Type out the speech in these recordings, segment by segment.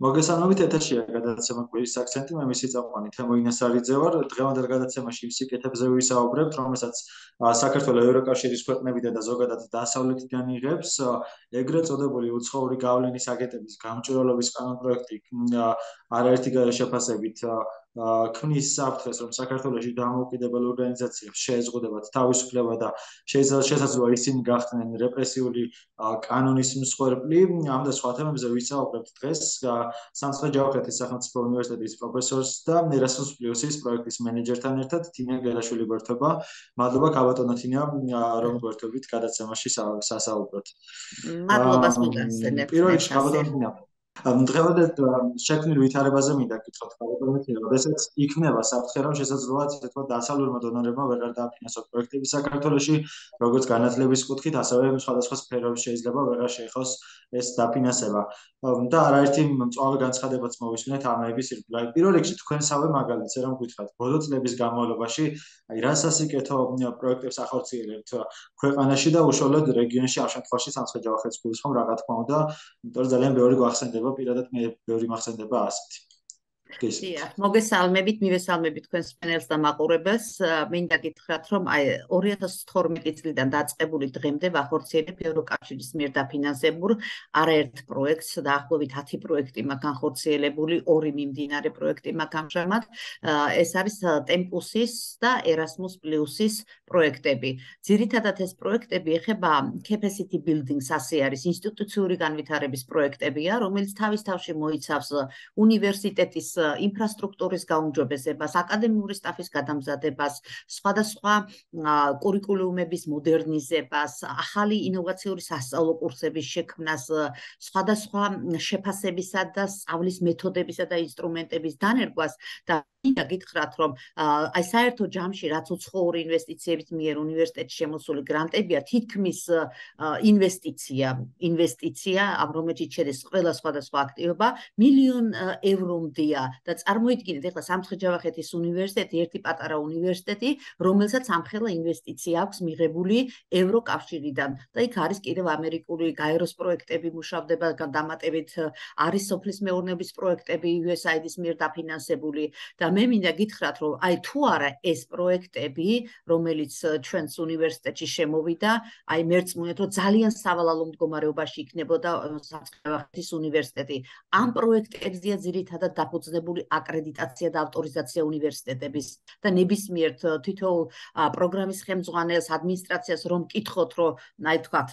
მოგესალმებით, ეთერშია გადაცემა კვირის აქცენტი, მე მისი წამყვანი თემო ინასარიძე ვარ. დღევანდელ გადაცემაში იმ სიკეთებზე ვისაუბრებთ, რომელსაც საქართველოს ევროკავშირის ქვეყნებიდან და ზოგადად დასავლეთიდან იღებს ეგრეთ წოდებული უცხოური გავლენის აგენტების გამჭვირვალობის კანონპროექტი არაერთი შეფასებით ქმნის საფრთხეს, რომ საქართველოში დამოუკიდებელ ორგანიზაციებს შეეზღუდებათ თავისუფლება და შესაძლოა ისინი გახდნენ რეპრესიული კანონის მსხვერპლი. ამ და სხვა თემებზე ვისაუბრებთ დღეს სამცხე-ჯავახეთის სახელმწიფო უნივერსიტეტის პროფესორს და ერასმუს პლუსის პროექტის მენეჯერთან ერთად თინია გელაშვილი გვერდება. მადლობა ქაბატონო თინია, რომ გვერდებით გადაცემაში სასაუბროთ. მადლობას მოგახსენებთ. პირველ რიგში ქაბატონო თინია, დღევანდელ შექმნილ ვითარებაზე მინდა გითხრათ ქაბატონო თინია, როდესაც იქნება საფრთხე, რომ შესაძლოა ასე თქვა დასავლურმა დონორებმა ვეღარ დააფინანსოს პროექტები საქართველოში, როგორც განათლების კუთხით, ასევე სხვადასხვა სფეროებში შეიძლება ვეღარ შეეხოს ეს დაფინანსება. და არაერთი მწვავე განცხადებაც მოვისმინეთ ამების ირგვლივ. პირველ რიგში თქვენსავე მაგალითზე რომ გითხრათ, ბოლო წლების განმავლობაში რა სასიკეთო პროექტებს ახორციელებთ ქვეყანაში და უშუალოდ რეგიონში, ამ შემთხვევაში სამცხე-ჯავახეთის გულისხმობ რა თქმა უნდა, იმიტომ რომ ძალიან ბევრი გვახსენდება, პირადად მე ბევრი მახსენდება ასეთი. მოგესალმებით, მივესალმებით თქვენს პანელს და მაყურებელს. მინდა გითხრათ, რომ 2012 წლიდან დაწყებული დღემდე ვახორციელებ ევროკავშირის მიერ დაფინანსებულ არაერთ პროექტს, დაახლოებით 10 პროექტი მაქვს განხორციელებული, 2 მიმდინარე პროექტი მაქვს ამჟამად. ეს არის ტემპუსის და ერასმუს პლუსის პროექტები. ძირითადად ეს პროექტები ეხება capacity building-ს, ასე არის ინსტიტუციური განვითარების პროექტებია, რომელიც თავის თავში მოიცავს უნივერსიტეტის ინფრასტრუქტურის გაუმჯობესებას, აკადემიური სტაფის გადამზადებას, სხვადასხვა კურიკულუმების მოდერნიზებას, ახალი ინოვაციური სასწავლო კურსების შექმნას, სხვადასხვა შეფასებისა და სწავლის მეთოდებისა და ინსტრუმენტების დანერგვას და მინდა გითხრათ, რომ აი საერთო ჯამში რაც უცხოური ინვესტიციების მიერ უნივერსიტეტში შემოსული გრანტებია, თითქმის ინვესტიცია, რომელშიც შედის ყველა სხვადასხვა აქტივობა, მილიონ ევრომდია და წარმოიდგინეთ, ახლა სამცხე-ჯავახეთის უნივერსიტეტი ერთი პატარა უნივერსიტეტი, რომელსაც ამხელა ინვესტიცია აქვს მიღებული ევროკავშირიდან და იქ არის კიდევ ამერიკული გაეროს პროექტები მუშავდება დამატებით, არის სოფლის მეურნეობის პროექტები USAID-ის მიერ დაფინანსებული და მე მინდა გითხრათ, რომ აი თუ არა ეს პროექტები, რომელიც ჩვენს უნივერსიტეტში შემოვიდა, აი მერწმუნეთ, რომ ძალიან სავალალო მდგომარეობაში იქნებოდა სამცხე-ჯავახეთის უნივერსიტეტი. ამ პროექტებზეა ძირითადად დაფუძნებული აკრედიტაცია და ავტორიზაცია უნივერსიტეტების და ნებისმიერ თითოეულ პროგრამის ხელმძღვანელს, ადმინისტრაციას რომ კითხოთ, რომ აი თქვათ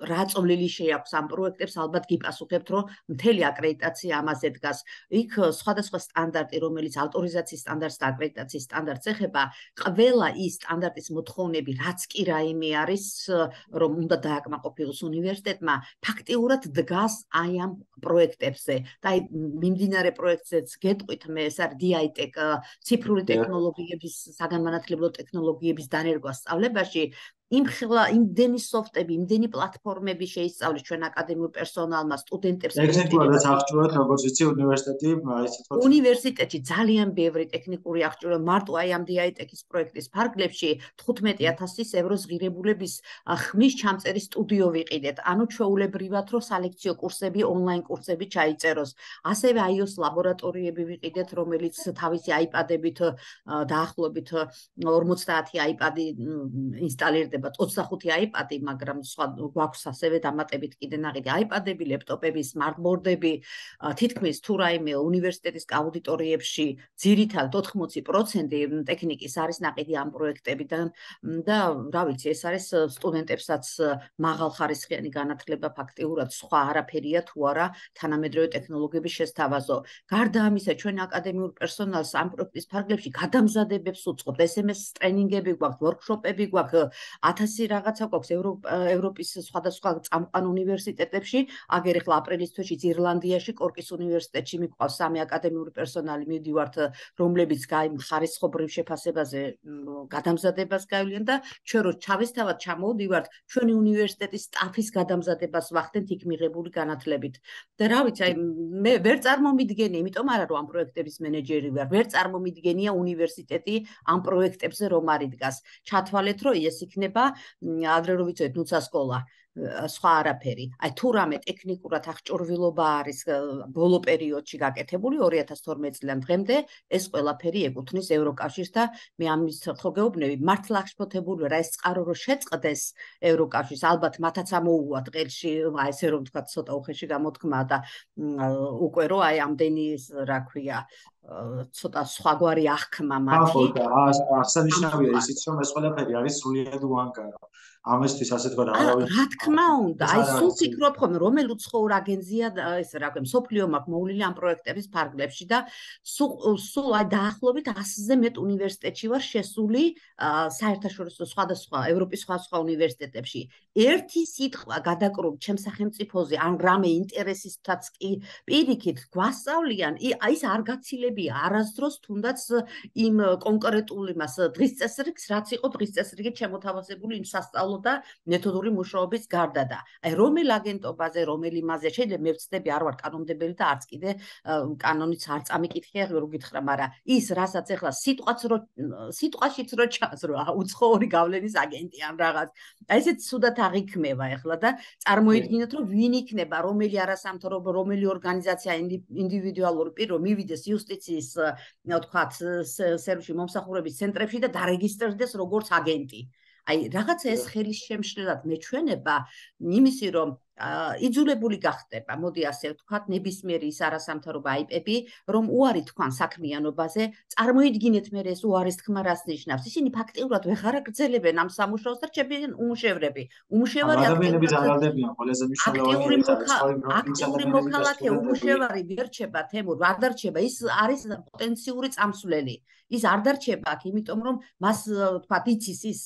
რა წვლილი შეაქვს ამ პროექტებს, ალბათ გიპასუხებთ, რომ მთელი აკრედიტაცია ამაზე დგას. იქ სხვადასხვა სტანდარტი, რომელიც ავტორიზაციის სტანდარტს და აკრედიტაციის სტანდარტს ეხება, ყველა ის სტანდარტის მოთხოვნები, რაც კი რაიმე არის, რომ უნდა დააკმაყოფილოს უნივერსიტეტმა, ფაქტიურად დგას აი ამ პროექტებზე. და აი მიმდინარე პროექტზეც გეტყვით, მე ეს არის DITEC, ციფრული ტექნოლოგიების, საგანმანათლებლო ტექნოლოგიების დანერგვა სწავლებაში. იმდენი სოფტები, იმდენი პლატფორმები შეისწავლის ჩვენ აკადემიურ პერსონალმა, სტუდენტებს. ტექნიკურად აღჭურვათ, როგორც ვიცი, უნივერსიტეტი, ისე თქვა. უნივერსიტეტში ძალიან ბევრი ტექნიკური აღჭურვა, მარტო აი ამ DITEC-ის პროექტის ფარგლებში 15,000 ევროს ღირებულების ხმის ჩამწერი სტუდიო ვიყიდეთ. ანუ ჩვეულებრივად, რომ სალექციო კურსები, ონლაინ კურსები ჩაიწეროს. ასევე iOS ლაბორატორიები ვიყიდეთ, რომელიც თავისი iPad-ებით დაახლოებით 50 iPad-ი ინსტალირდება. 25 iPad-ი, მაგრამ სხვა გვაქვს ასევე დამატებით კიდე ნაყიდი iPad-ები, ლეპტოპები, სმარტბორდები, თითქმის თუ რაიმე უნივერსიტეტის აუდიტორიებში ძირითადად 80% ტექნიკის არის ნაყიდი ამ პროექტებიდან და რა ვიცი, ეს არის სტუდენტებსაც მაღალხარისხიანი განათლება ფაქტიურად სხვა არაფერია თუ არა თანამედროვე ტექნოლოგიების შესთავაზო. გარდა ამისა, ჩვენ აკადემიურ პერსონალს ამ პროექტის ფარგლებში გადამზადებებს უწყობთ, SMS ტრენინგები გვაქვს, ვორქშოპები გვაქვს, 1000 რაღაცა გვაქვს ევროპის სხვადასხვა წამყვან უნივერსიტეტებში. აგერ ახლა აპრილის თვეში ირლანდიაში, კორკის უნივერსიტეტში მიყვავს 3 აკადემიური პერსონალი მივდივართ, რომლებიც ხარისხობრივ შეფასებაზე გადამზადებას გაივლიან და ჩვენ რო ჩავესთავად ჩამოვდივართ, ჩვენი უნივერსიტეტის სტაფის გადამზადებას ვახდენთ იქ მიღებული განათლებით. და რა ვიცი, აი მე ვერ წარმომიდგენია, იმიტომ არა რომ ამ პროექტების მენეჯერი ვარ, ვერ წარმომიდგენია უნივერსიტეტი ამ პროექტებზე რომ არ იდგას. ჩათვალეთ, რომ ეს იქნება ადრე რო ვიცოდეთ, ნუცა სკოლა. სხვა არაფერი. აი თუ რამე ტექნიკურად აღჭურვილობა არის ბოლო პერიოდში გაკეთებული 2012 წლიდან დღემდე, ეს ყველაფერი ეკუთვნის ევროკავშირს და მე ამის ხოგეუბნები მართლა აღშფოთებული რა ეს წყარო რო შეწყდეს ევროკავშირს, ალბათ მათაც ამოუვათ ყელში, ესე რომ თქვა ცოტა უხეში გამოთქმა და უკვე რო აი ამდენი რა ქვია ცოტა სხვაგვარი აღქმა მათი. აღსანიშნავია ისიც რომ ეს ყველაფერი არის სრულიად უანგარო. ამისთვის ასე თქვა და არავინ რა თქმა უნდა, აი სულ ფიქრობ ხომ რომელი უცხოურ აგენცია ეს რა ქვია, მსოფლიო მაქვს მოვლილი ამ პროექტების ფარგლებში და სულ აი დაახლოებით 100-ზე მეტ უნივერსიტეტში ვარ შესული საერთაშორისო სხვადასხვა ევროპის სხვა უნივერსიტეტებში. ერთი სიტყვა გადაკრულ ჩემს სახელმწიფოზე ან რამე ინტერესისთაც კი პირიქით გვასწავლიან, ის არ გაცილებია არასდროს თუნდაც იმ კონკრეტული მას დღის წესრიგს, რაც იყო დღის წესრიგით შემოთავაზებული იმ სასწავლო და მეთოდური მუშაობის გარდა და აი რომელ აგენტობაზე, რომელ იმაზე შეიძლება მე ვწდები არ ვარ კანონმდებელი და არც კიდე კანონიც არ წამიკითხია რო გითხრა, მაგრამ ის რასაც ახლა სიტყვაშიც რო ჩანს რო უცხოური გავლენის აგენტი ან რაღაც აი ესეც სუდათ აღიქმევა ახლა და წარმოიდგინოთ რომ ვინ იქნება რომელი არასამთავრობო რომელი ორგანიზაცია ინდივიდუალური პირო მივიდეს იუსტიციის თქვათ სერვისში მომსახურების ცენტრებში და დარეგისტრდეს როგორც აგენტი. აი რაღაცა ეს ხელის შემშლელად მეჩვენება იმისი რომ იძულებული გახდება, მოდი ასე ვთქვათ, ნებისმიერი ის არასამთავრობო აიპები, რომ უარი თქვან საქმიანობაზე, წარმოიდგინეთ მე ეს უარის თქმა რას ნიშნავს. ისინი ფაქტიურად ვეღარ აგრძელებენ ამ სამუშაოს და რჩებიან უმუშევრები. უმუშევარი ადამიანები ზარალდებიან, ყველაზე მნიშვნელოვანია აქტიური მოქალაქე უმუშევარი ვერ რჩება თემურ, არ დარჩება, ის არის პოტენციური წამსვლელი. ის არ დარჩება აქ, იმიტომ რომ მას თქვათ იცის ის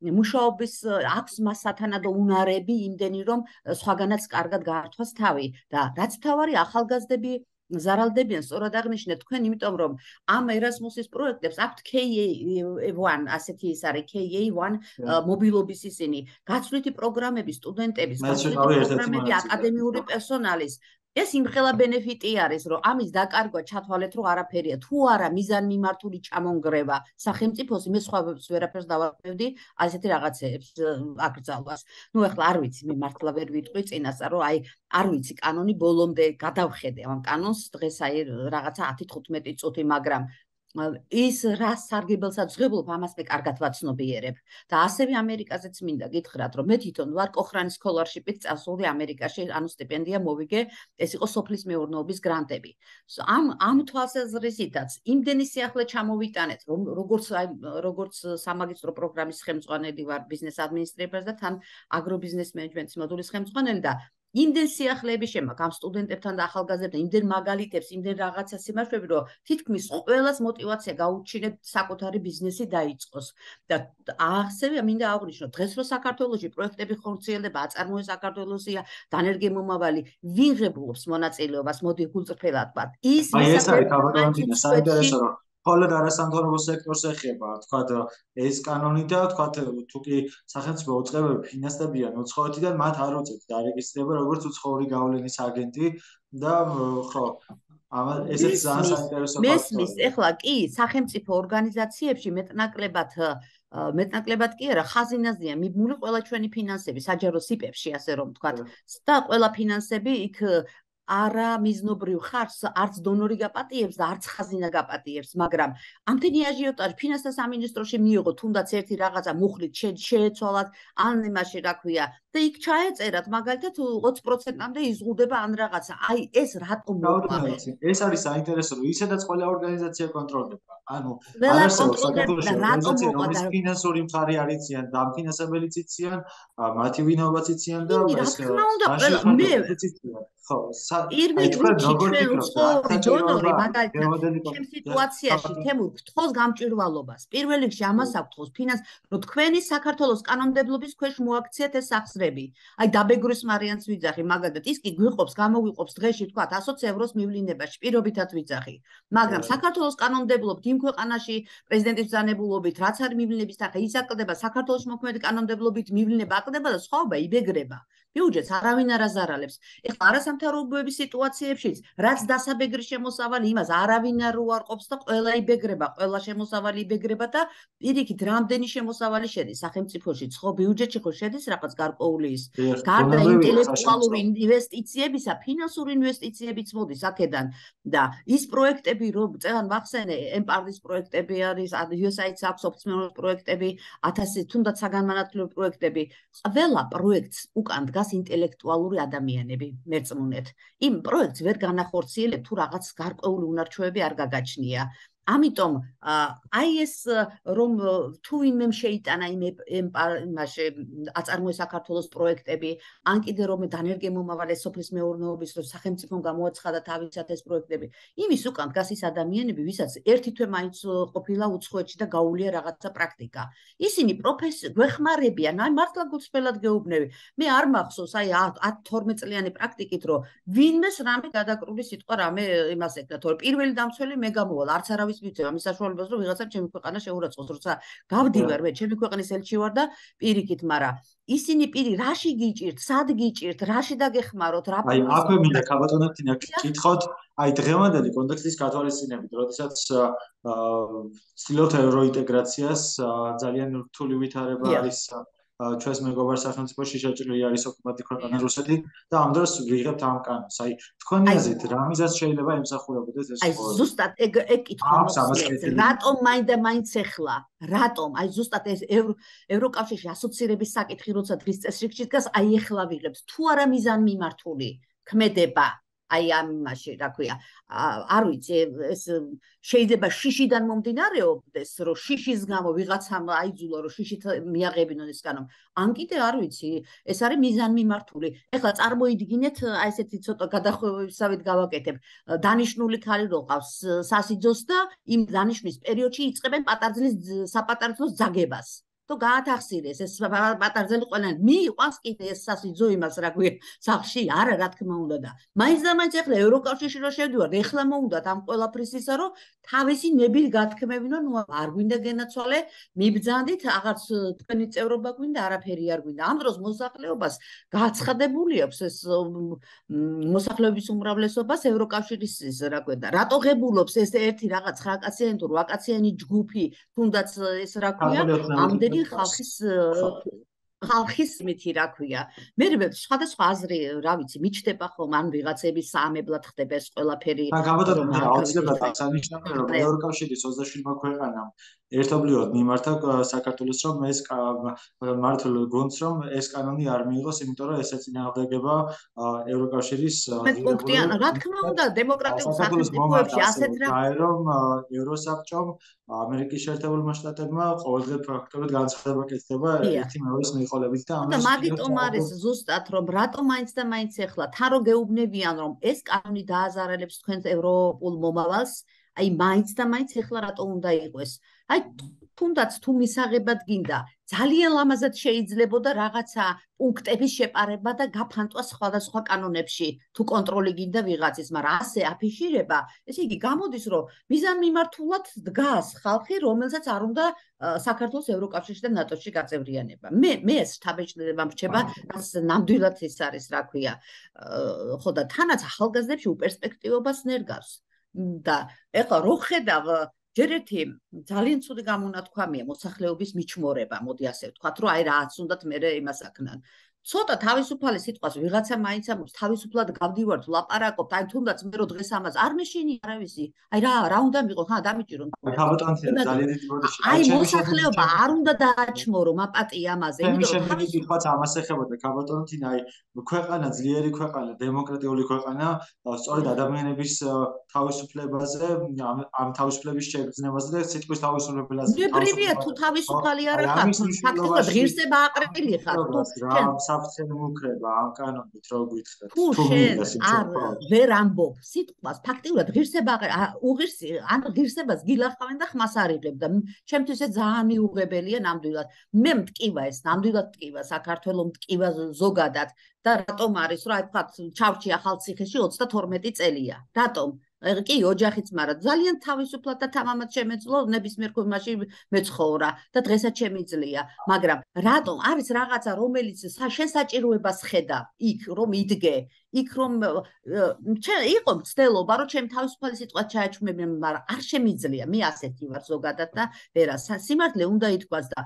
მუშაობის აქვს მას სათანადო უნარები იმდენი რომ სხვაგანაც კარგად გაართვას თავი და რაც თავარი ახალგაზრდები ზარალდებიან, სწორად აღნიშნეთ თქვენ, იმიტომ რომ ამ ერასმუსის პროექტებს აქვთ KA1, ასეთი ის არის KA1 მობილობის ისინი, გაცვლითი პროგრამები სტუდენტების, გაცვლითი პროგრამები აკადემიური პერსონალის. ეს იმხელა ბენეფიტი არის, რომ ამის დაკარგვა ჩათვალეთ, რომ არაფერია. თუ არა მიზანმიმართული ჩამონგრევა სახელმწიფოს, მე სხვაებს ვერაფერს დავარქმევდი ასეთი რაღაცეებს აკრძალვას. ნუ ახლა არ ვიცი, მე მართლა ვერ ვიტყვი წინასწარ, რომ აი არ ვიცი კანონი ბოლომდე გადავხედე ამ კანონს დღეს აი რაღაცა 10-15 წუთი, მაგრამ ის რა სარგებელსაც ღებულობ ამას მე კარგად ვაცნობიერებ და ასევე ამერიკაზეც მინდა გითხრათ რომ მე თვითონ ვარ კოხრანის სკოლარშიპით წასული ამერიკაში, ანუ სტიპენდია მოვიგე, ეს იყო სოფლის მეურნეობის გრანტები. ამ თვალსაზრისითაც იმდენი სიახლე ჩამოვიტანეთ, რომ როგორც სამაგისტრო პროგრამის ხელმძღვანელი ვარ ბიზნეს ადმინისტრირებას და თან აგრობიზნეს მენეჯმენტის მოდულის ხელმძღვანელი და იმდენ სიახლეები შემაქვს ამ სტუდენტებთან და ახალგაზრდებთან, იმდენ მაგალითებს, იმდენ რაღაცა სიმართლეები, რომ თითქმის ყველას мотиваცია გაუჩინეთ საკუთარი ბიზნესი დაიწყოს. და ასევე მინდა აღვნიშნო, დღეს რო საქართველოში პროექტები ხორციელდება, აწარმოებს საქართველოსია დანერგე მომავალი, ვინ ღებულობს მონაწილეობას, მოდი გულწრფელად ვთქვათ. ის ეს არის თავგადასავალი საინტერესო რომ ხოლმე არასამთავრობო სექტორს ეხება, თქვათ ეს კანონი და თქვათ თუ კი სახელმწიფო უწყებები ფინანსდებიან უცხოეთიდან, მათ არ უწევთ დარეგისტრირება როგორც უცხოური გავლენის აგენტი და ხო, ესეც ძალიან საინტერესო ფაქტორია. მესმის, ეხლა კი სახელმწიფო ორგანიზაციებში მეტნაკლებად კი არა, ხაზინაზეა მიბმული ყველა ჩვენი ფინანსები, საჯარო სიპებში, ასე რომ ვთქვათ, და ყველა ფინანსები იქ არა მიზნობრივ ხარს არც დონორი გაპატიებს და არც ხაზინა გაპატიებს, მაგრამ ამდენი აჟიოტაჟი ფინანსთა სამინისტროში მიიღო, თუნდაც ერთი რაღაცა მუხლით შეეცვალათ, ან იმაში რა ქვია და იქ ჩაეწერათ, მაგალითად 20%-მდე იზღუდება ან რაღაცა. აი ეს რატომ მოყვა? ეს არის საინტერესო, რომ ისედაც ყველა ორგანიზაცია კონტროლდება. ანუ ყველა კონტროლდება, რატომ მოყვა და ფინანსური მხარე არიციან, დამფინანსებელიც იციან, მათი ვინაობაც იციან და რა თქმა უნდა, მე ხო, დონორი მაგალითად ჩემ სიტუაციაში თემურ გთხოვს გამჭვირვალობას. პირველ რიგში ამას აქვს ფინანს, რომ თქვენი საქართველოს კანონმდებლობის ქვეშ მოაქციეთ ეს სახსრები. აი დაბეგრვის მარიანს ვიძახი, მაგალითად ის კი გვიყოფს, გამოგვიყოფს დღეში თქვა 100 ევროს მივლინებაში, პირობითად ვიძახი. მაგრამ საქართველოს კანონმდებლობით იმ ქვეყანაში პრეზიდენტის ბრძანებულობით, რაც არის მივლინების თანხა, ის აკლდება საქართველოს მოქმედი კანონმდებლობით მივლინება აკლდება და სხვაობა იბეგრება. ბიუჯეტს არავინ არ აზარალებს. ეხლა არასამთავრობოების სიტუაციებშიც, რაც დასაბეგრი შემოსავალი, იმას არავინ არ უარყოფს და ყველა იბეგრება, ყველა შემოსავალი იბეგრება და პირიქით რამდენი შემოსავალი შედის სახელმწიფოში, ხო ბიუჯეტში ხო შედის რაღაც გარკვეული ის. გარდა ინტელექტუალური ინვესტიციებისა, ფინანსური ინვესტიციებიც მოდის აქედან და ის პროექტები, რომ წელან ვახსენე, ემპარდის პროექტები არის, USAID-ს აქვს ოფიციალური პროექტები, 1000 თუნდაც საგანმანათლებლო პროექტები, ყველა პროექტს უკან დგას ინტელექტუალური ადამიანები, მერწმუნეთ. იმ პროექტს ვერ განახორციელებ თუ რაღაც გარკვეული უნარჩვევები არ გაგაჩნია. ამიტომ აი ეს რომ თუ ვინმემ შეიტანა იმაში აწარმოეს საქართველოს პროექტები, ან კიდე რომ დანერგე მომავალ სოფლის მეურნეობის რომ სახელმწიფომ გამოაცხადა თავისად ეს პროექტები, იმის უკან დგას ის ადამიანები, ვისაც ერთი თვე მაინც ყოფილა უცხოეთში და გაუვლია რაღაცა პრაქტიკა. ისინი გვეხმარებიან, აი მართლა გულწრფელად გეუბნები. მე არ მახსოვს აი 10-12 წლიანი პრაქტიკით რომ ვინმეს რამე გადაკრული სიტყვა რამე იმას ეკდა, თორე პირველი დამცველი მე გამოვალ, არც არავის მიცემ ამის საშუალებას რომ ვიღაცამ ჩემი ქვეყანა შეურაცხოს, როცა გავდივარ მე ჩემი ქვეყნის ელჩი ვარ და პირიქით, მაგრამ ისინი პირი რაში გიჭირთ, სად გიჭირთ, რაში დაგეხმაროთ, რა აი აქვე მინდა ქაბატონებთან კითხოთ, აი დღევანდელი კონტექსტის გათვალისწინებით, როდესაც ცდილობთ ევროინტეგრაციას, ძალიან რთული ვითარება არის ჩვენს მეგობარ სახელმწიფოში, შეჭრილი არის ოკუპანტი ქვეყანა რუსეთი და ამ დროს ვიღებთ ამ კანონს. აი თქვენი აზრით რა მიზეზს შეიძლება ემსახურებოდეს ეს აი ზუსტად ეგ კითხვა მოხსნეს, რატომ მაინც ეხლა, რატომ აი ზუსტად ეს ევროკავშირში ასოცირების საკითხი როცა დღის წესრიგში დგას, აი ეხლა ვიღებთ თუ არა მიზანმიმართული ქმედება აი ამაში, რა ქვია, არ ვიცი, ეს შეიძლება შიშიდან მომდინარეობდეს, რომ შიშის გამო ვიღაცამ აიძულა, რომ შიშით მიაღებინონ ეს კანონი. ან კიდე არ ვიცი, ეს არის მიზანმიმართული. ეხლა წარმოიდგინეთ, აი ესეთი ცოტა გადახვევებისავით გავაკეთებ. დანიშნული ქალი რო ყავს სასიძოს და იმ დანიშნვის პერიოდში იწყებენ საპატარძლოს ძაგებას. თუ გაათახსირეს ეს პატარძელი ყველანი მიიყვანს კიდე ეს სასიძო იმას რა ქვია სახში არა რა თქმა უნდა და მაინც და მაინც ეხლა ევროკავშირში რო შევდივართ ეხლა მოუნდათ ამ ყველაფრის ისა რომ თავისი ნებილი გათქმევინო ნუ არ გვინდა გენაცვალე მიბძანდით აღარც თქვენი წევრობა გვინდა არაფერი არ გვინდა ამ დროს მოსახლეობას გაცხადებული აქვს ეს მოსახლეობის უმრავლესობას ევროკავშირის რა ქვია რატო ღებულობს ეს ერთი რაღაც 9 კაციანი თუ 8 კაციანი ჯგუფი თუნდაც ეს რა ქვია ამდენი ხალხის მითი რა ქვია მე სხვადასხვა აზრი რა ვიცი მიჩდება ხომ ან ვიღაცების საამებლად ხდება ეს ყველაფერი და გამოდადებული აუცილებლად აღსანიშნავია რომ ევროკავშირის 27 ქვეყანამ ერთობლივად მიმართა საქართველოს რომ ეს მართლ გონს რომ ეს კანონი არ მიიღოს იმიტომ რომ ეს ეწინააღმდეგება ევროკავშირის პუნქტიან რა თქმა უნდა დემოკრატიულ სახელმწიფოებში ასეთ რა რომ ევროსაბჭომ ამერიკის შეერთებულმა შტატებმა ყოველდღე ფაქტობრივად განცხადება კეთდება ერთი მეორის მიყოლებით და ამას მაგიტომ არის ზუსტად რომ რატომ მაინც და მაინც ეხლა თან რო გეუბნებიან რომ ეს კანონი დააზარალებს თქვენს ევროპულ მომავალს აი მაინც და მაინც ეხლა რატო უნდა იყოს აი თუნდაც თუ მისაღებად გინდა ძალიან ლამაზად შეიძლებოდა რაღაცა პუნქტების შეპარება და გაფანტვა სხვადასხვა კანონებში თუ კონტროლი გინდა ვიღაცის მაგრამ ასე აფიშირება ესე იგი გამოდის რომ მიზანმიმართულად დგას ხალხი რომელსაც არ უნდა საქართველოს ევროკავშირში და ნატოში გაწევრიანება მე ეს შთაბეჭდილება მრჩება რაც ნამდვილად ის არის რა ქვია ხო და თანაც ახალგაზრდებში უპერსპექტივობას ნერგავს და ეხლა რო ხედავ ჯერ ერთი ძალიან ცუდი გამონათქვამია მოსახლეობის მიჩმორება, მოდი ასე ვთქვათ, რომ აი რაც უნდათ მე იმას აქნან. ცოტა თავისუფალი სიტყვას ვიღაცა მაინც ამბობს, თავისუფლად გავდივართ, ვლაპარაკობთ, აი თუნდაც მე რო დღეს ამას არ მეშინი არავისი. აი რა უნდა მიყო, ხა დამიჭირო. ძალიან დიდი ბოდიში. აი მოსახლეობა არ უნდა დააჩმორო მაპატი ამაზე, იმიტომ რომ თავისუფლად ამას ეხებოდა ქაბატონთინა, აი ქვეყანა ძლიერი ქვეყანა, დემოკრატიული ქვეყანა, სწორედ ადამიანების თავისუფლებაზე, ამ თავისუფლების შეგრძნებაზე და სიტყვის თავისუფლებაზე. ნებრივია თუ თავისუფალი არ ხარ, ფაქტობრივად ღირსება აყრილი ხარ, თუ საფრთხე მუქრება ამ კანონით რო გითხრათ თუ არ ვერ ამბობ სიტყვას ფაქტიურად ღირსება უღირსი ან ღირსებას გილახავენ და ხმას არიღებ და ჩემთვის ეს ძალიან მიუღებელია ნამდვილად მე მტკივა ეს ნამდვილად მტკივა საქართველოს მტკივა ზოგადად და რატომ არის რომ აი თქვა ჩავჭი ახალციხეში 32 წელია რატომ კი, ოჯახიც, მაგრამ ძალიან თავისუფლად და თამამად შემეძლო ნებისმიერ ქვეყანაში მეცხოვრა და დღესაც შემიძლია, მაგრამ რატომ არის რაღაცა, რომელიც შენ საჭიროებას ხედა იქ რომ იდგე, იქ რომ იყო მცდელობა, რომ ჩემ თავისუფალი სიტყვა ჩაეჩვმებინე, მაგრამ არ შემიძლია. მე ასეთი ვარ ზოგადად და ვერა სიმართლე უნდა ითქვას და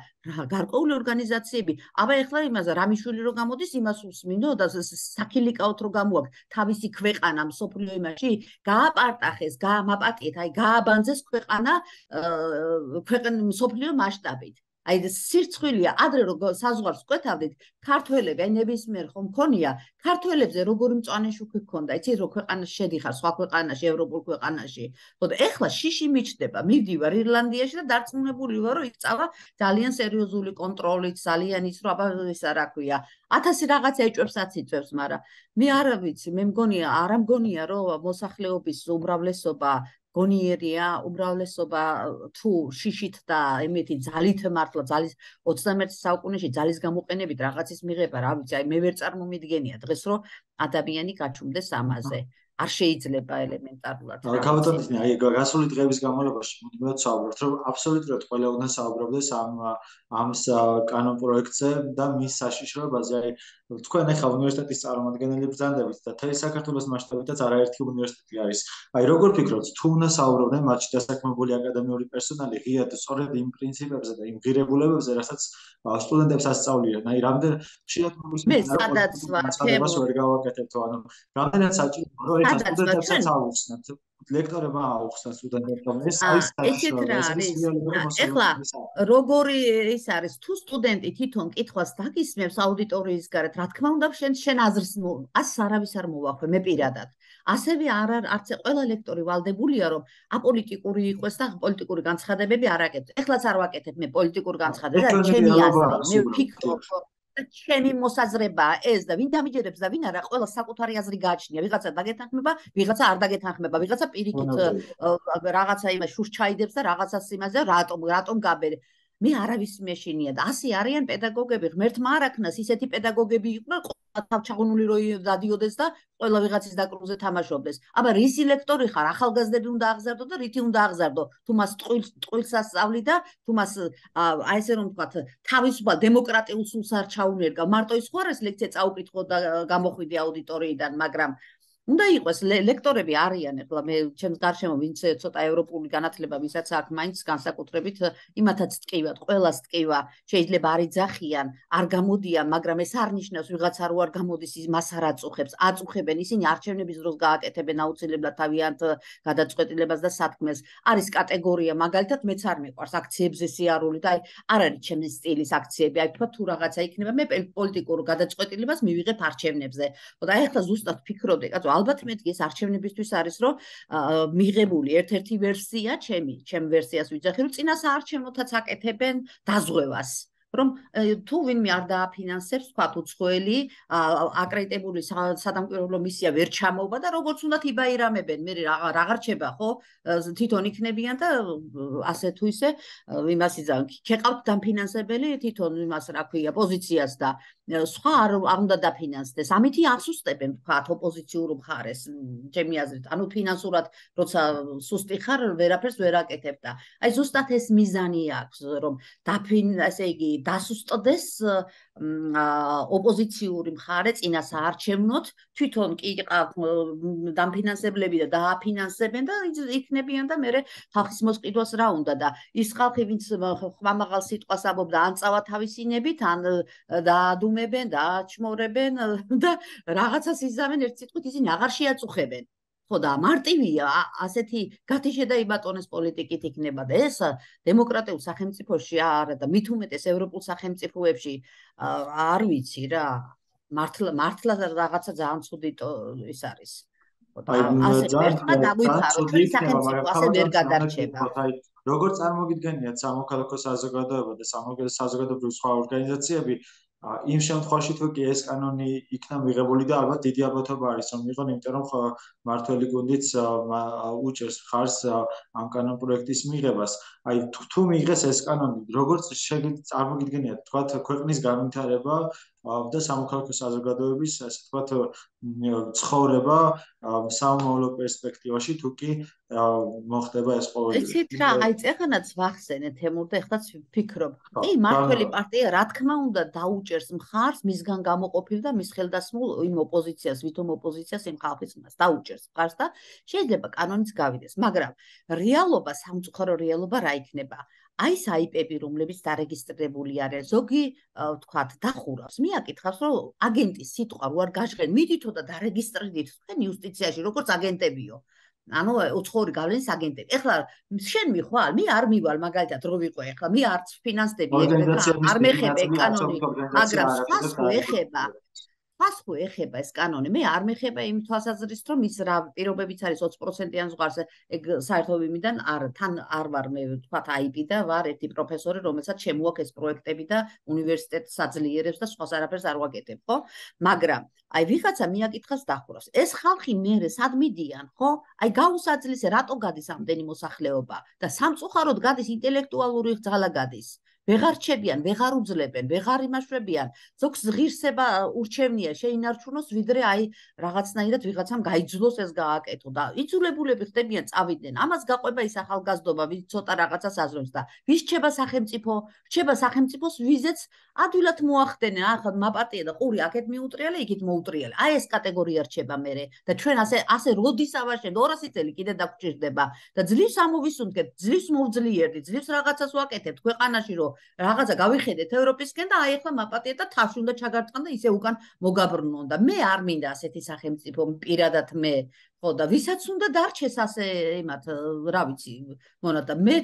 გარკვეული ორგანიზაციები, აბა ეხლა იმაზე რამიშვილი რო გამოდის, იმას უსმინო და საქილიკაოთ რო გამოაქვს თავისი ქვეყანა მსოფლიო იმაში, გააპარტახეს, გაამაპატიეთ, აი გააბანძეს ქვეყანა მსოფლიო მასშტაბით. აი სირცხვილია ადრე რო საზღვარს კვეთავდით ქართველები აი ნებისმიერ ხომ მქონია ქართველებზე როგორი მწვანე შუქი ჰქონდა იცით რომ ქვეყანაში შედიხარ სხვა ქვეყანაში ევროპულ ქვეყანაში ხო და ეხლა შიში მიჩდება მივდივარ ირლანდიაში და დარწმუნებული ვარ რომ იქ წავა ძალიან სერიოზული კონტროლით ძალიან ის რომ აბა ისა რა ქვია 1000 რაღაც ეჭვებსაც იწევს მაგრამ მე არ ვიცი მე მგონია არ მგონია რომ მოსახლეობის უმრავლესობა გონიერია უმრავლესობა თუ შიშით და იმითი ძალით მართლა ძალის 21 საუკუნეში ძალის გამოყენებით რაღაცის მიღება რა ვიცი აი მე ვერ წარმომიდგენია დღეს რომ ადამიანი გაჩუმდეს ამაზე არ შეიძლება ელემენტარულად გავატანეთ აი გასული დღეების განმავლობაში მუდმივად საუბრობთ რომ აბსოლუტურად ყველა უნდა საუბრობდეს ამ კანონ პროექტზე და მის საშიშროებაზე აი თქვენ ახლა უნივერსიტეტის წარმომადგენელი ბრძანდებით და თითქმის საქართველოს მასშტაბითაც არაერთი უნივერსიტეტი არის აი როგორ ფიქრობთ თუ უნდა საუბრობდნენ მათში დასაქმებული აკადემიური პერსონალი ღიად სწორედ იმ პრინციპებზე და იმ ღირებულებებზე რასაც სტუდენტებს ასწავლიან აი რამდენ შეიძლება მე სადაც განცხადებას ვერ გავაკეთებთ ანუ რამდენად საჭიროა რომ ეს სტუდენტებსაც აუხსნათ ლექტორებმა აუხსნათ სტუდენტებმა ეს არის ეხლა როგორი ის არის თუ სტუდენტი თვითონ კითხვას დაგისმევს აუდიტორიის გარეთ რა თქმა უნდა შენ აზრს ას არავის არ მოვახვე მე პირადად ასევე არც ყველა ლექტორი ვალდებულია რომ აპოლიტიკური იყოს და პოლიტიკური განცხადებები არ აკეთებს ეხლაც არ ვაკეთებ მე პოლიტიკურ განცხადებებს ჩემი აზრი მე ვფიქრობ ჩემი მოსაზრება ეს და ვინ დამიჯერებს და ვინ არა ყველა საკუთარი აზრი გააჩნია ვიღაცა დაგეთანხმება ვიღაცა არ დაგეთანხმება ვიღაცა პირიქით რაღაცა იმას შურს ჩაიდებს და რაღაცას იმაზე რატომ გაბერე მე არავის მეშინია და ასე არიან პედაგოგები ღმერთმა არ აქნას ისეთი პედაგოგები იყვნენ თავჩაღუნული რო დადიოდეს და ყველა ვიღაცის დაკრუზე თამაშობდეს აბა რისი ლექტორი ხარ ახალგაზრდები უნდა აღზარდო და რითი უნდა აღზარდო თუ მას ტყუილს ასწავლი და თუ მას აი ესე რომ ვთქვათ თავისუფალ დემოკრატიულ სულს არ ჩაუნერგა მარტო ის ხო არის ლექცია წაუკითხო და გამოხვიდე აუდიტორიიდან მაგრამ უნდა იყოს ლექტორები არიან ახლა მე ჩემს გარშემო ვინც ცოტა ევროპული განათლება ვისაც აქვს მაინც განსაკუთრებით იმათაც ტკივათ ყველას ტკივა შეიძლება არ იძახიან არ გამოდიან მაგრამ ეს არ ნიშნავს ვიღაცა რო არ გამოდის მას არ აწუხებს აწუხებენ ისინი არჩევნების დროს გააკეთებენ აუცილებლად თავიანთ გადაწყვეტილებას და სათქმეს არის კატეგორია მაგალითად მეც არ მეყვარს აქციებზე სიარული და აი არ არის ჩემი სტილის აქციები აი თქვა თუ რაღაცა იქნება მე პოლიტიკურ გადაწყვეტილებას მივიღებ არჩევნებზე და აი ახლა ზუსტად ფიქრობდი კაცო ალბათ მეთქი ეს არჩევნებისთვის არის რომ მიღებული ერთ-ერთი ვერსია ჩემ ვერსიას ვიძახი რომ წინა საარჩევნოთაც აკეთებენ დაზღვევას რომ თუ ვინმე არ დააფინანსებს თქვა უცხოელი აკრედიტებული სადამკვირვებლო მისია ვერ ჩამოვა და როგორც უნდათ იბაირამებენ მე აღარ რჩება ხო თვითონ იქნებიან და ასე თუ ისე იმას იძახენ ქეყავთ დაფინანსებელი თვითონ იმას რა ქვია პოზიციას და სხვა არ უნდა დაფინანსდეს ამითი აღსუსტებენ თქვა ოპოზიციურ მხარეს ჩემი აზრით ანუ ფინანსურად როცა სუსტი ხარ ვერაფერს ვერ აკეთებ და აი ზუსტად ეს მიზანი აქვს რომ ასე იგი დასუსტდეს ოპოზიციური მხარე წინა საარჩევნოთ თვითონ კი დამფინანსებლები და დააფინანსებენ და იქნებიან და მე ხალხის მოსყიდვას რა უნდა და ის ხალხი ვინც ხმამაღალ სიტყვას ამბობდა ან წავა თავისინებით ან დაადუმებენ და აჩმორებენ და რაღაცას იზამენ ერთ სიტყვით ისინი აღარ შეაწუხებენ ხო და მარტივია ასეთი გათიშე და იბატონეს პოლიტიკით იქნება და ეს დემოკრატიულ სახელმწიფოში არა და მით უმეტეს ევროპულ სახელმწიფოებში არ ვიცი რა მართლა რაღაცა ძალიან ცუდი ის არის ასე ერთმა დაგვითხარო ჩვენი სახელმწიფო ასე ვერ გადარჩება როგორ წარმოგიდგენიათ სამოქალაქო საზოგადოება და საზოგადოებრივი სხვა ორგანიზაციები იმ შემთხვევაში თუ კი ეს კანონი იქნა მიღებული და ალბათ დიდი ალბათობა არის რომ მიღონ იმიტომ რომ მართველი გუნდიც უჭერს მხარს ამ კანონ პროექტის მიღებას აი თუ მიიღეს ეს კანონი, როგორც წარმოგიდგენიათ, თქვათ ქვეყნის განვითარება და სამოქალაქო საზოგადოების, ასე ვთქვათ, ცხოვრება სამომავლო პერსპექტივაში თუ კი მოხდება ეს ყოველდღე. იცით რა, აი წეხანაც ვახსენე თემურ და ეხლაც ვფიქრობ. კი, მართველი პარტია რა თქმა უნდა დაუჭერს მხარს მისგან გამოყოფილ და მის ხელდასმულ იმ ოპოზიციას, ვითომ ოპოზიციას იმ ხალხის მას დაუჭერს მხარს და შეიძლება კანონიც გავიდეს, მაგრამ რეალობა, სამწუხარო რეალობა რა იქნება? აი ეს IP-ები, რომლებიც დარეგისტრირებული არიან, ზოგი ვთქვათ, დახურავს. მიაკითხავს, რომ აგენტის სიტყვა რო არ გაჟღენ, მიდითო და დარეგისტრირდით თქვენ იუსტიციაში, როგორც აგენტებიო. ანუ უცხოური გავლენის აგენტები. ეხლა შენ მიხვალ, მე არ მივალ მაგალითად რო ვიყო ეხლა, მე არც ფინანსდები არ მეხება კანონი, მაგრამ სხვას ხო ეხება ეს კანონი. მე არ მეხება იმ თვალსაზრისით, რომ ის რა პირობებიც არის 20%-იან ზღვარზე, ეგ საერთო იმიდან თან არ ვარ მე ვთქვათ IP და ვარ ერთი პროფესორი, რომელსაც შემოაქვს ეს პროექტები და უნივერსიტეტს აძლიერებს და სხვას არაფერს არ ვაკეთებ, ხო? მაგრამ აი ვიღაცა მიაკითხავს დახურავს. ეს ხალხი მერე სად მიდიან, ხო? აი გაუსაძლისე რატო გადის ამდენი მოსახლეობა და სამწუხაროდ გადის ინტელექტუალური ძალა გადის. ვეღარ რჩებიან, ვეღარ უძლებენ, ვეღარ იმაშვებიან. ზოგს ღირსება ურჩევნია შეინარჩუნოს, ვიდრე აი რაღაცნაირად ვიღაცამ გაიძულოს ეს გააკეთო და იძულებულები ხდებიან წავიდნენ. ამას გაყვება ის ახალგაზრდობა, ვინც ცოტა რაღაცას აზრობს და ვის რჩება სახელმწიფო? რჩება სახელმწიფოს ვიზეც ადვილად მოახდენენ. ახლა მაპატია და ყური აქეთ მიუტრიალე, იქით მოუტრიალე. აი ეს კატეგორია რჩება მერე და ჩვენ ასე როდის ავაშენთ 200 წელი კიდე დაგჭირდება და ძლივს ამოვისუნთქეთ, ძლივს მოვძლიერდით, ძლივს რაღაცას ვაკეთებთ ქვეყანაში რომ რაღაცა გავიხედეთ ევროპისკენ და აი ახლა მაპატია და თავში უნდა ჩაგარწყან და ისე უკან მოგაბრუნონ და მე არ მინდა ასეთი სახელმწიფო პირადად მე ხო და ვისაც უნდა დარჩეს ასე იმათ რა ვიცი მონატა მე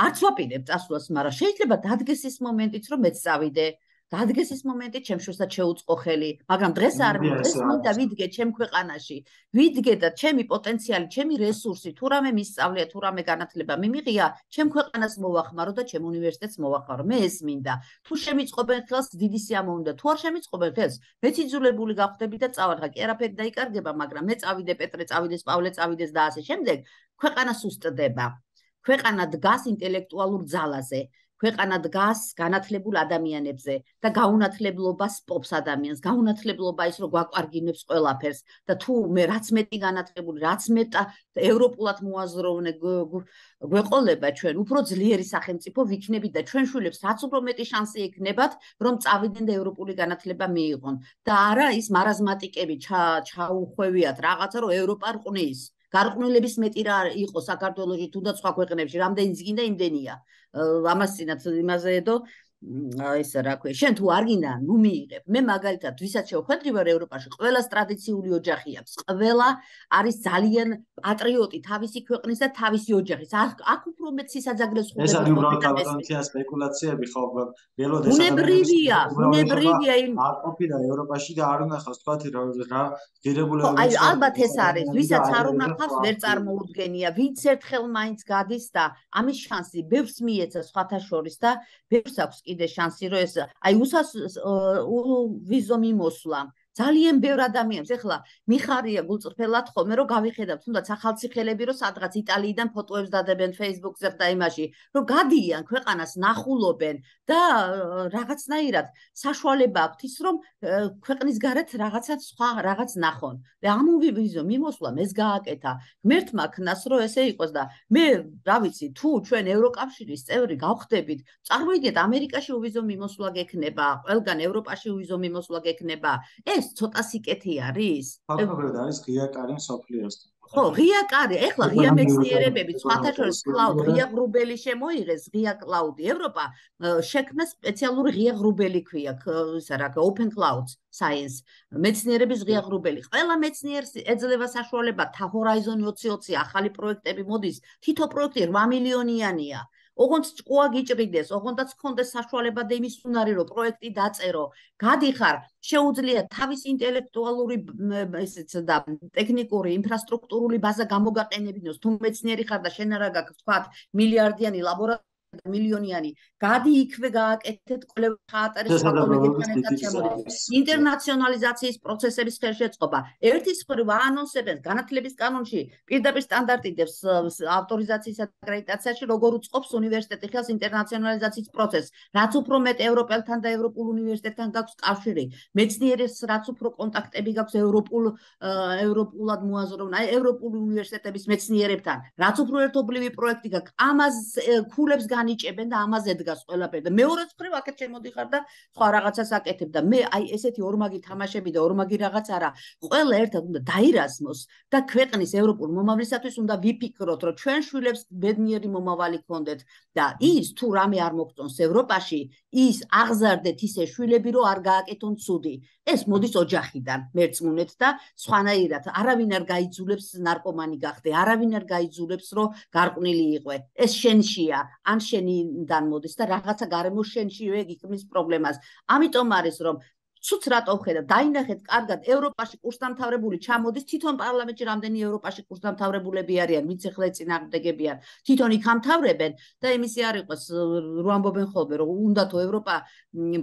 არც ვაპირებ წასვლას მაგრამ შეიძლება დადგეს ის მომენტიც რომ მეც წავიდე დადგეს ის მომენტი ჩემშვილსაც შეუწყო ხელი მაგრამ დღეს არ დღეს მინდა ვიდგე ჩემ ქვეყანაში ვიდგე და ჩემი პოტენციალი ჩემი რესურსი თუ რამე მისწავლია თუ რამე განათლება მიმიღია ჩემ ქვეყანას მოვახმარო და ჩემ უნივერსიტეტს მოვახმარო მე ეს მინდა თუ შემიწყობენ ხელს დიდი სიამოვნებაა უნდა თუ არ შემიწყობენ ხელს მეც იძულებული გავხდები და წავარღა კი არაფერი დაიკარგება მაგრამ მე წავიდე პეტრე წავიდეს პავლე წავიდეს და ასე შემდეგ ქვეყანა სუსტდება ქვეყანა დგას ინტელექტუალურ ძალაზე ქვეყანა დგას განათლებულ ადამიანებზე და გაუნათლებლობას პოპს ადამიანს, გაუნათლებლობა ის რომ გვაკვარგინებს ყველაფერს და თუ მე რაც მეტი განათლებული, რაც მეტა ევროპულად მოაზროვნე გვეყოლება ჩვენ, უფრო ძლიერი სახელმწიფო ვიქნებით და ჩვენ შვილებს რაც უფრო მეტი შანსი ექნებათ, რომ წავიდნენ და ევროპული განათლება მიიღონ და არა ის მარაზმატიკები ჩაუხვევიათ რაღაცა რომ ევროპა რყნის გარყვნილების მეტი რა იყო საქართველოში თუნდაც სხვა ქვეყნებში რამდენი ზიგინდა იმდენია ამას წინათ იმაზე დო ეს რა ქვია შენ თუ არ გინდა ნუ მიიღებ მე მაგალითად ვისაც შევხვედრი ვარ ევროპაში ყველას ტრადიციული ოჯახი აქვს ყველა არის ძალიან პატრიოტი თავისი ქვეყნის და თავისი ოჯახის აქ უფრო მეტ სისაძაგლეს ხდება ეს არის უბრალოდ კაპიტალიზაცია სპეკულაციები ხო ველოდ ეს ბუნებრივია არ ყოფილა ევროპაში და არ უნდა ხავს თქვა რა ღირებულება აი ალბათ ეს არის ვისაც არ უნდა ხავს ვერ წარმოუდგენია ვინც ერთხელ მაინც გადის და ამის შანსი ბევრს მიეცა სხვათა შორის და ბევრს აქვს კიდე შანსი რომ ეს აი ვიზო მიმოსვლა ძალიან ბევრ ადამიანს ეხლა მიხარია გულწრფელად ხოლმე რომ გავიხედავ თუნდაც ახალციხელები რომ სადღაც იტალიიდან ფოტოებს დადებენ Facebook-ზე და იმაში რომ გადიან ქვეყანას ნახულობენ და რაღაცნაირად საშუალება აქვთ ის რომ ქვეყნის გარეთ რაღაცა სხვა რაღაც ნახონ და ამ ვიზო მიმოსვლამ ეს გააკეთა ღმერთმა ქნას რომ ესე იყოს და მე რა ვიცი თუ ჩვენ ევროკავშირის წევრი გავხდებით წარმოიდგინეთ ამერიკაში ვიზო მიმოსვლა გექნება ყველგან ევროპაში ვიზო მიმოსვლა გექნება ეს ცოტა სიკეთე არის? ფაქტობრივად არის ღია კარი მსოფლიოსთან. ხო, ღია კარი, ეხლა ღია მეცნიერებები, სხვათა შორის კლაუდ, ღია ღრუბელი შემოიღეს, ღია კლაუდი. ევროპა შექმნა სპეციალური ღია ღრუბელი ქვია, ისა რა, open clouds science. მეცნიერების ღია ღრუბელი. ყველა მეცნიერს ეძლევა საშუალება Horizon 2020 ახალი პროექტები მოდის. თითო პროექტი 8 მილიონიანია. ოღონდ ჭკუა გიჭრიდეს, ოღონდაც გქონდეს საშუალება და იმის უნარი რომ პროექტი დაწერო, გადიხარ, შეუძლია თავის ინტელექტუალური ესეც და ტექნიკური ინფრასტრუქტურული ბაზა გამოგაყენებინოს, თუ მეცნიერი ხარ და შენ არა გაქვს თქვათ მილიარდიანი ლაბორატორია მილიონიანი გადი იქვე გააკეთეთ კვლევა ხაატარის სხვა კოლეგებთან ერთად შემოდით ინტერნაციონალიზაციის პროცესების ხელშეწყობა ერთის მხრივ აანონსებენ განათლების კანონში პირდაპირ სტანდარტიდებს ავტორიზაციის აკრედიტაციაში როგორ უწყობს უნივერსიტეტი ხელს ინტერნაციონალიზაციის პროცესს რაც უფრო მეტ ევროპელთან და ევროპულ უნივერსიტეტთან გაქვს კავშირი მეცნიერებს რაც უფრო კონტაქტები გაქვს ევროპულად მოაზროვნ ევროპულ უნივერსიტეტების მეცნიერებთან რაც უფრო ერთობლივი პროექტი გაქვს ამას ქულებს განიჭებენ და ამაზე დგას ყველაფერი და მეორე მხრივ აქეთ შემოდიხარ და სხვა რაღაცას აკეთებ და მე აი ესეთი ორმაგი თამაშები და ორმაგი რაღაც არა ყველა ერთად უნდა დაირაზმოს და ქვეყნის ევროპულ მომავლისათვის უნდა ვიფიქროთ რომ ჩვენ შვილებს ბედნიერი მომავალი გქონდეთ და ის თუ რამე არ მოგწონს ევროპაში ის აღზარდეთ ისე შვილები რომ არ გააკეთონ ცუდი ეს მოდის ოჯახიდან მერწმუნეთ და სხვანაირად არავინ არ გაიძულებს ნარკომანი გახდე არავინ არ გაიძულებს რომ გარყვნილი იყვე ეს შენშია ან შენიდან მოდის და რაღაცა გარემო შენშივე გიქმნის პრობლემას ამიტომ არის რომ ცუც რატო ვხედავ დაინახეთ კარგად ევროპაში კურსდამთავრებული ჩამოდის თვითონ პარლამენტში რამდენი ევროპაში კურსდამთავრებულები არიან ვინც ახლა წინააღმდეგებიან თვითონ იქ ამთავრებენ და იმისი არ იყოს რო ამბობენ ხოლმე რომ უნდათო ევროპა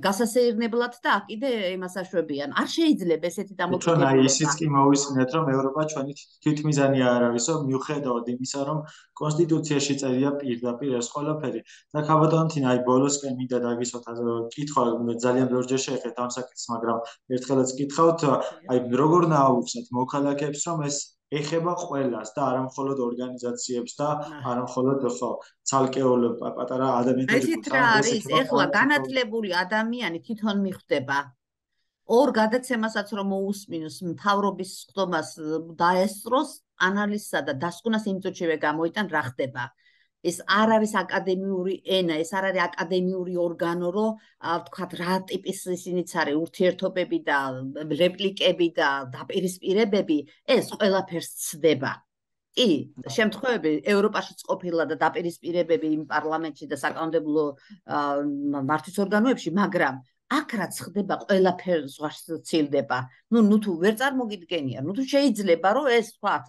გასასეირნებლად და აქ კიდე იმას აშვებიან არ შეიძლება ესეთი დამოკიდებულება ჩვენ აი ისიც კი მოვისმინეთ რომ ევროპა ჩვენი თვითმიზანი არ არისო მიუხედავად იმისა რომ კონსტიტუციაში წერია პირდაპირ ეს ყველაფერი და ქაბატონთინა აი ბოლოსკენ მინდა დაგისვათ კითხვა ძალიან ბევრჯერ შეეხეთ ამ საკითხს მაგრამ ერთხელაც გითხავთ აი როგორ ნაუხსნათ მოქალაქეებს რომ ეს ეხება ყველას და არა მხოლოდ ორგანიზაციებს და არა მხოლოდ ხო ცალკეულ პატარა ადამიანებს ეს რა არის ეხლა განათლებული ადამიანი თვითონ მიხვდება ორ გადაცემასაც რომ მოусმინოს მთავრობის ხდომას დაესწროს ანალიზსა და დასკვნას იმ წუთშივე გამოიტან რა ხდება ეს არ არის აკადემიური ენა, ეს არ არის აკადემიური ორგანო, რომ ვთქვათ, რა ტიპის ისინიც არის ურთიერთობები და რეპლიკები და დაპირისპირებები, ეს ყველაფერს ცდება. კი, შემთხვევები ევროპაშიც ყოფილა და დაპირისპირებები იმ პარლამენტში და საკანონმდებლო მართვის ორგანოებში, მაგრამ აქ რაც ხდება ყველაფერს ვარცილდება. ნუ თუ ვერ წარმოგიდგენია, ნუ თუ შეიძლება რომ ეს ვთქვათ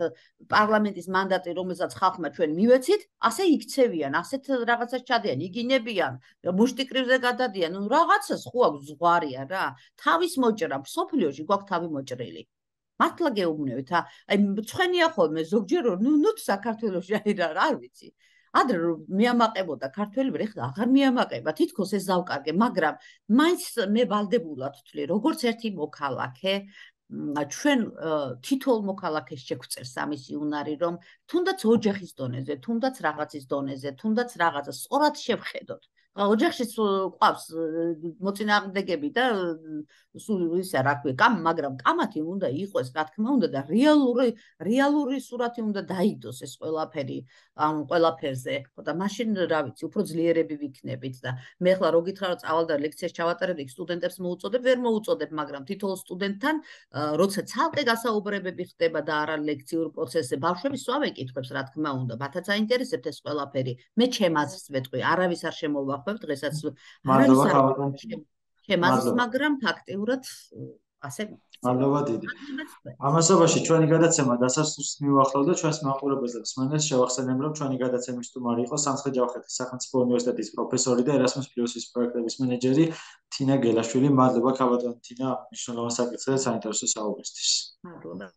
პარლამენტის მანდატი, რომელსაც ხალხმა ჩვენ მივეცით, ასე იქცევიან, ასეთ რაღაცას ჩადიან, იგინებიან, მუშტიკრივზე გადადიან, ნუ რაღაცას ხო აქვს ზღვარია რა. თავის მოჭრა, სოფლიოში გვაქვს თავი მოჭრილი. მართლა გეუბნებით, აი მწვენია ხოლმე ზოგჯერ ნუ საქართველოში არ ვიცი. ადრე რომ მეამაყებოდა ქართველები, ეხლა აღარ მეამაყება, თითქოს ეს დავკარგე, მაგრამ მაინც მე ვალდებულად ვთვლი, როგორც ერთი მოქალაქე, ჩვენ თითოეულ მოქალაქეს შეგვწერს ამისი უნარი, რომ თუნდაც ოჯახის დონეზე, თუნდაც რაღაცის დონეზე, თუნდაც რაღაცა სწორად შევხედოთ. ოჯახში ყავს მოწინააღმდეგები და სულ ისა რა ქვია, მაგრამ კამათი უნდა იყოს, რა თქმა უნდა და რეალური სურათი უნდა დაიდოს ეს ყველაფერი ამ ყველაფერზე. და მაშინ რა ვიცი, უფრო ძლიერები ვიქნებით და მე ხლა რო გითხრა რომ წავალ და ლექციას ჩავატარებ, იქ სტუდენტებს მოუწოდებ, ვერ მოუწოდებ, მაგრამ თითოეულ სტუდენტთან როცა ცალკე გასაუბრებები ხდება და არა ლექციურ პროცესზე, ბავშვები სვამენ კითხვებს, რა თქმა უნდა, მათაც აინტერესებთ ეს ყველაფერი. მე ჩემ აზრს ვეტყვი, არავის არ შემოვახვევ დღესაც ჩემს მაგრამ ფაქტიურად ასე მადლობა დიდი. ამასობაში ჩვენი გადაცემა დასასრულს მივახლოვდა ჩვენს მაყურებელს და მსმენელს შევახსენებ რომ ჩვენი გადაცემის სტუმარი იყო სამცხე-ჯავხეთის სახელმწიფო უნივერსიტეტის პროფესორი და Erasmus Plus-ის პროექტების მენეჯერი თინა გელაშვილი. მადლობა ქაბატონ თინა მნიშვნელოვან საკითხზე საინტერესო საუბრისთვის. მადლობა.